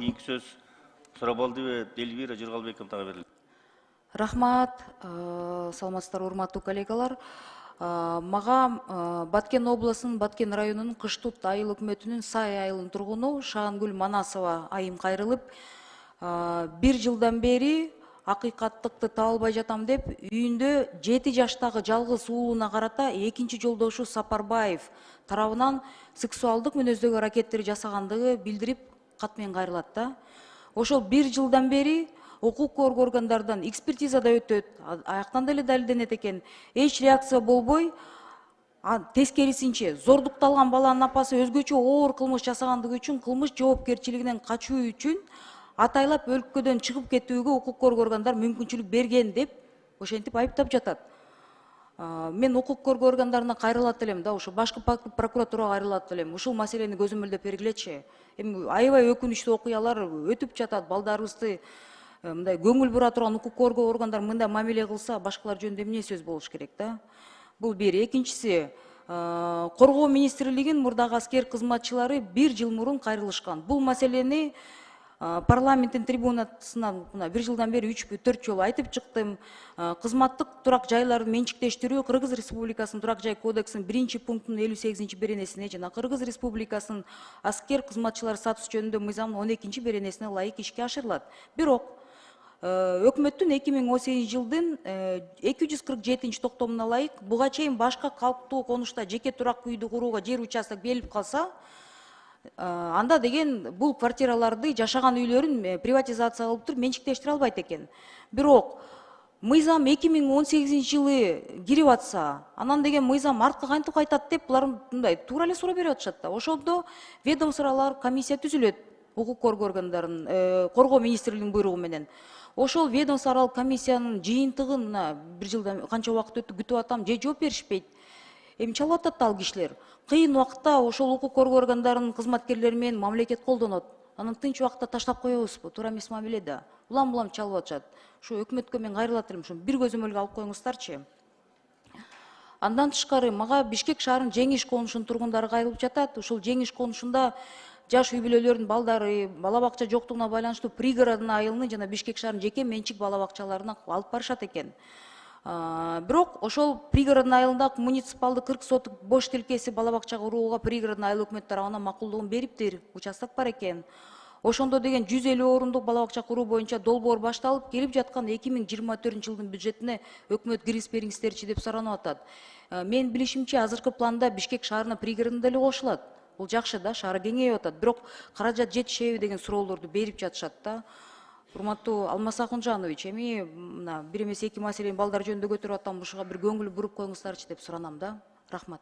кийинки сөз Сурабалдиева Эльвира Жыргалбековнага берилет. Рахмат, саламатсыздарбы урматтуу коллегалар. Мага Баткен областынын Баткен районунун Кыштут айыл өкмөтүнүн Сай айылынын тургуну Шагангүл Манасова айым кайрылып, 1 жылдан бери акыйкаттыкты таба албай жатам деп үйүндө 7 жаштагы жалгыз уулуна карата экинчи жолдошу Сапарбаев тарабынан сексуалдык мүнөздөгү аракеттер жасагандыгы билдирип кат менен кайрылат да. Ошол 1 жылдан бери укук коргоо органдарынан экспертизада өтөт, аяктан деле далилденет экен. Эч реакция болбой, тескерисинче зордукталган баланын апасы өзгөчө оор кылмыш жасагандыгы үчүн кылмыш жоопкерчилигинен качуу үчүн атайлап өлкөдөн чыгып кетүүгө укук коргоо органдар мүмкүнчүлүк берген деп ошентип айыптап жатат. Мен укук коргоо органдарына кайрылат элем да, ошо башкы прокуратурага кайрылат элем. Ушул маселени көзөмөлдөп бергилечи. Эми аябай өкүнүчтүү окуялар өтүп жатат. Балдарыбызды мындай көңүл бура турган укук коргоо органдар мындай мамиле кылса, башкалар жөнүндө эмне сөз болуш керек да? Бул бир. Экинчиси, Коргоо министрлигинин мурдагы аскер кызматчылары 1 жыл мурун кайрылышкан. Бул маселени парламенттин трибунасынан 1 жылдан бери 3-4 жолу айтып чыктым. Кызматтык турак жайларды менчиктештирүү Кыргыз Республикасынын турак жай кодексинин 1-пунктунун 58-беренесине жана Кыргыз Республикасынын аскер кызматчылары статусу жөнүндө мыйзамдын 12-беренесине ылайык ишке ашырылат. Бирок өкмөттүн 2018 жылдын 247 токтомуна ылайык буга чейин башка калктуу конушта жеке турак үйдү курууга жер участок берилип калса, анда деген бул квартираларды жашаган үйлөрүн приватизация кылып туруп менчиктештире албайт экен. Бирок мыйзам 2018 жылы кирип атса, анан деген мыйзам артка кантип кайтат деп булар мындай туура эле суроо берип атышат да. Ошондо ведомстволук комиссия түзүлөт укук коргоо органдарынын коргоо министрлигинин буйругу менен. Ошол ведомство аралык комиссиянын жыйынтыгын 1 жылдан канча убакыт өттү күтүп атам, же жооп беришпейт. Эми чалып атат да ал кишилер. Кыйын убакытта ошол укук коргоо органдарынын кызматкерлери менен мамлекет колдонот. Анан тынч убакытта таштап коебузбу? Туура эмес мамиле да. Улам чалып атышат. Ушу өкмөткө мен кайрылат элем, ушу бир көзөмөлгө алып коюңуздарчы. Андан тышкары мага Бишкек шаарынын Жеңиш конушунун тургундары кайрылып жатат. Ушул Жеңиш конушунда жаш үй бүлөлөрдүн балдары бала бакча жоктугуна байланыштуу пригородный айылынын жана Бишкек шаарынын жеке менчик бала бакчаларына алып барышат экен. Бирок ошол пригородный айылында муниципалдык 40 соток бош тилкеси бала бакча курууга пригородный айыл өкмөтү тарабынан макулдугун бериптир. Участок бар экен. Ошондо деген 150 орундук бала бакча куруу боюнча долбоор башталып, келип жаткан 2024 жылдын бюджетине өкмөт кириз бериңиздерчи деп суранып атат. Мен билишимче, азыркы планда Бишкек шаарына пригородный деле кошулат. Бул жакшы да, шаар кеңейип атат. Бирок каражат жетишеби деген суроолорду берип жатышат да. Урматтуу Алмаз Акунжанович, эми мына бир эмес эки маселени балдар жөнүндө көтөрүп атам, ушуга бир көңүл буруп коюңуздарчы деп суранам да. Рахмат.